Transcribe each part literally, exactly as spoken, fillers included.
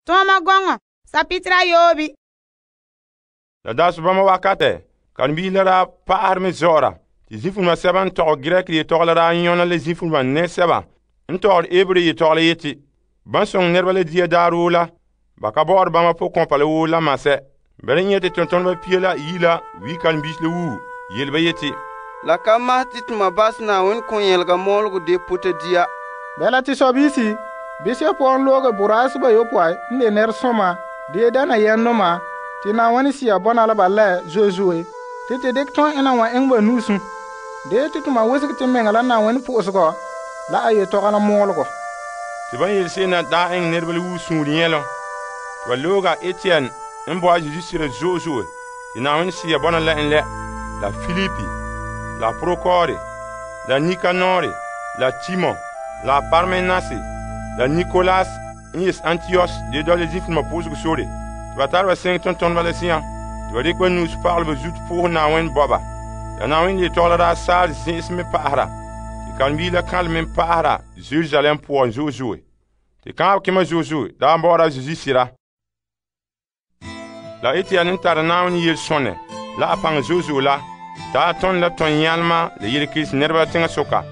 Tɔɔma gɔŋɔ sapitira yoobi. La daa sobama wakate, karen-biisi la daa pa'ahɛ mɛ zɔ'ɔra, te zifuluma sɛba n tɔgɛ Grek yetɔgɔ la daa nyɔna la zifuluma nɛsɛba n tɔgɔre Ebre yetɔgɔ la yeti, ban soŋɛ nɛreba la dia daaroo la, ba ka bɔ'ɔre bama pʋgɔkɔnpa la woo la masɛ. Bala n yeti tontoneba pia la yi la wi karen-biisi la wuu, yele ba yeti, la ka mahɛ te toma basɛ Na'ayenɛ kɔn-yɛlega mɔɔlegɔ de pota dia. Bala te sɔbiisi, bisɛ pɔgɔn looge boraasɛ bayopɔe n de nɛresoma, de dana yɛndoma, te Na'ayenɛ Sea bɔna la ba lɛ zoe zoe, te te dekɛ tõa ena wa eŋɛ ba nu'usum. De te toma wesege te meŋa la Na'ayenɛ po'osegɔ la a yetɔgɔ la mɔɔlegɔ. Te ban yele se'em na daa eŋɛ nɛreba la wuu suunre nyɛlom. Te ba looga Etienne n bo a Zesu sira zo'e zo'e te Na'ayenɛ Sea bɔna la en lɛ, la Filipi, la Prokore, la Nikanore, la Timon, la Parmenase, la Nikolas n yes Antios de dɔla zifuluma pʋʋsegɔ sore. Te ba tare ba sɛŋɛ tontoneba la zi'an, te ba dikɛ ba nu'usi pagalɛ ba zuto pʋʋsɛ Na'ayenɛ bɔba. La Na'ayenɛ yetɔgɔ la daa saare zĩ'isi me pa'ahera, te karen-biisi la kanlɛ me pa'ahera Jerusalem poan zo'e zo'e. Te kaanbɛ kema zo'e zo'e daa bɔ'ɔra Zesu sira. La Etienne n tara Na'ayenɛ yelesonɛ la a paŋa zo'e zo'e la, daa tõnd la tõn-yãlema la yelekerehe nɛreba teŋa soka.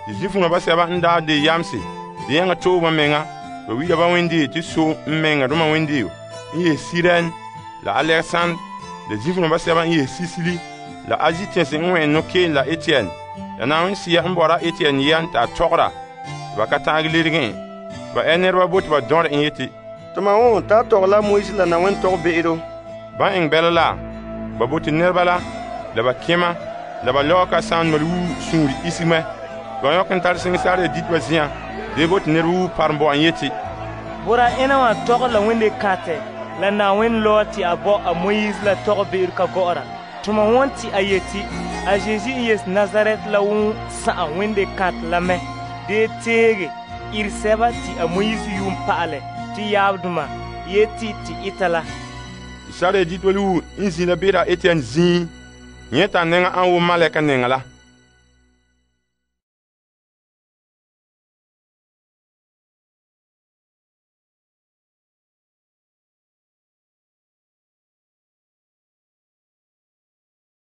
Te zifuluma basɛba n daa de yamse de yãŋa to'e ba meŋa, ba wi'ila ba wendeo te so n meŋadoma wendeo n yeh Sirɛn la Alexandre, la zifuluma basɛba n yeh Sisili la Azi tɛnse n wɛn nɔkeen la Etienne. La Na'ayenɛ Sea n bɔra Etienne yɛn ta a tɔgɔra, te ba ka ta'agɛ lerege. Ba ɛ nɛreba bo te ba dɔ̃re en yeti, Toma woo ta tɔgɛ la Moise la Na'ayenɛ tɔgɛ be'ero. Ban eŋɛ bɛla la, ba bo te nɛreba la, la ba kema, la ba lɔɔ ka sãn mal wuu suunre isigmɛ. Ba yɔk n tare seŋe saare dit ba zi'an, de bo te nɛreba wuu parom bo an yeti, Bora ena wa tɔgɛ la wende kãtɛ la Na'ayenɛ lɔɔ te a bɔ a Moise la tɔgɛ be'ero ka gɔ'ɔra. Tuma wɔn te a yeti, a Zesu n yes Nazaret la wun sa'am wende kãtɛ la mɛ, de teege iri sɛba te a Moise yuun pa'alɛ te yaabdoma yeti te ita la. Saare dit ba wuu n zĩ la beera Etienne zĩig, yẽ t'a nɛŋa an wo malɛka nɛŋa la.